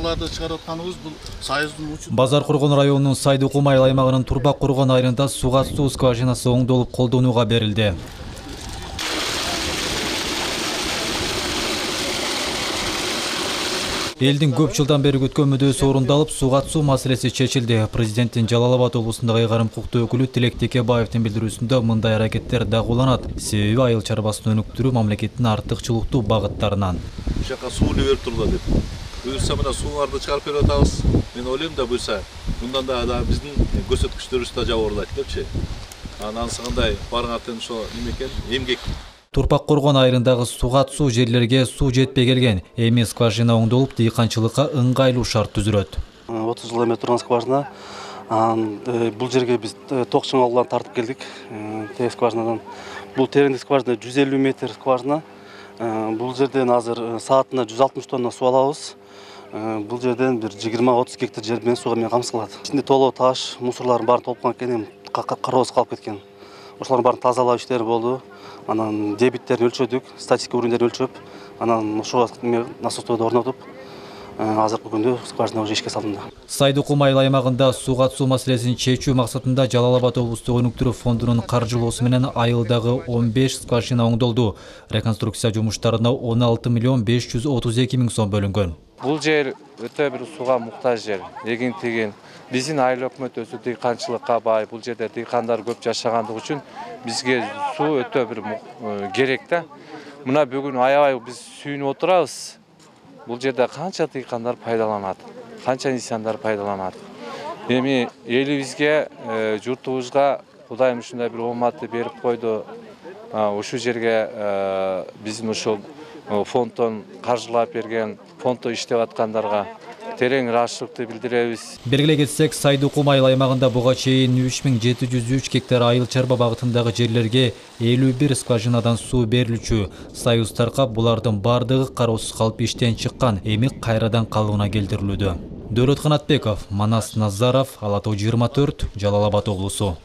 скважиналарды чыгарып атканыбыз бул Союздун учу. Базар Кургон районунун Сайдыкум айыл аймагынын Турбак Кургон айылында суга суу скважинасы оңдолуп колдонууга берилди. Элдин көп жылдан бери күткөн мүдөөсү орундалып, суга суу маселеси чечилди. Президенттин Жалал Абад облусундагы ыйгарым укуктуу өкүлү Тилек Текебаевдин билдирүүсүндө мындай аракеттер дагууланат. Себеби айыл чарбасын өнүктүрүү мамлекеттин артыкчылыктуу багыттарынан. Бул жака суу берип турду деп. Буюрса мына сууларды чыгарып берип атабыз. Мен ойлойм да буюрса мындан да биздин көрсөткүчтөрүбүз да жабырылат депчи. Анан ансыгындай барган ошо неме экен, эмгек. Турпак Кургон айылындагы суга суу жерлерге суу жетпей келген. Эми скважина оңдолуп, дыйканчылыкка ыңгайлуу шарт түзүлөт. 30 жыл эме турган скважина. Бул жерге биз ток чыңалууларын тартып келдик. Тег скважинадан. Бул тереңдик скважина 150 метр скважина. Бул жерден азыр саатына 160 тонна суу алабыз. Бул жерден бир 20-30 гектар жер менен сууга мен камсыз. Ичинде толо таш, мусорлардын баары толуп калган, кароосуз калып кеткен. Ошолордун баарын тазалоо иштери болду. Анан дебиттерин өлчөдүк, статистика өрүндөрүн өлчөп, анан ошого насосторду орнотуп, азыркы күндө скважина уже ишке салынды. Сайдыкум айыл аймагында суга суу маселесин чечүү максатында Жалал Абад облустук өнүктүрүү фондунун каржылоосу менен айылдагы 15 скважина оңдолду. Реконструкция жумуштарына 16 миллион 532 миң сом бөлүнгөн. Бул жер өтө бир сууга муктаж жер. Эгин-тегин биздин айыл өкмөтү дыйканчылыкка бай. Бул жерде дыйкандар көп жашагандыгы үчүн бизге суу өтө бир керек да. Мына бүгүн аябай биз сүйүнүп отурабыз. Бул жерде канча дыйкандар пайдаланат, канча инсандар пайдаланат. Эми элибизге, журтубузга Кудайым ушундай бир ооматты берип койду. Ушул жерге биздин ушул фонддон каржылап берген, фонддо иштеп аткандарга терең ыраазычылыкты билдиребиз. Белгилей кетсек, Сайдыкум айыл аймагында буга чейин 3703 гектар айыл чарба багытындагы жерлерге 51 скважинадан суу берилчү. Союз таркап булардын бардыгы кароосуз калып иштен чыккан, эми кайрадан калыбына келтирилүүдө. Дөөлөт Канатбеков, Манас Назаров, Ала Тоо 24, Жалал Абад облусу.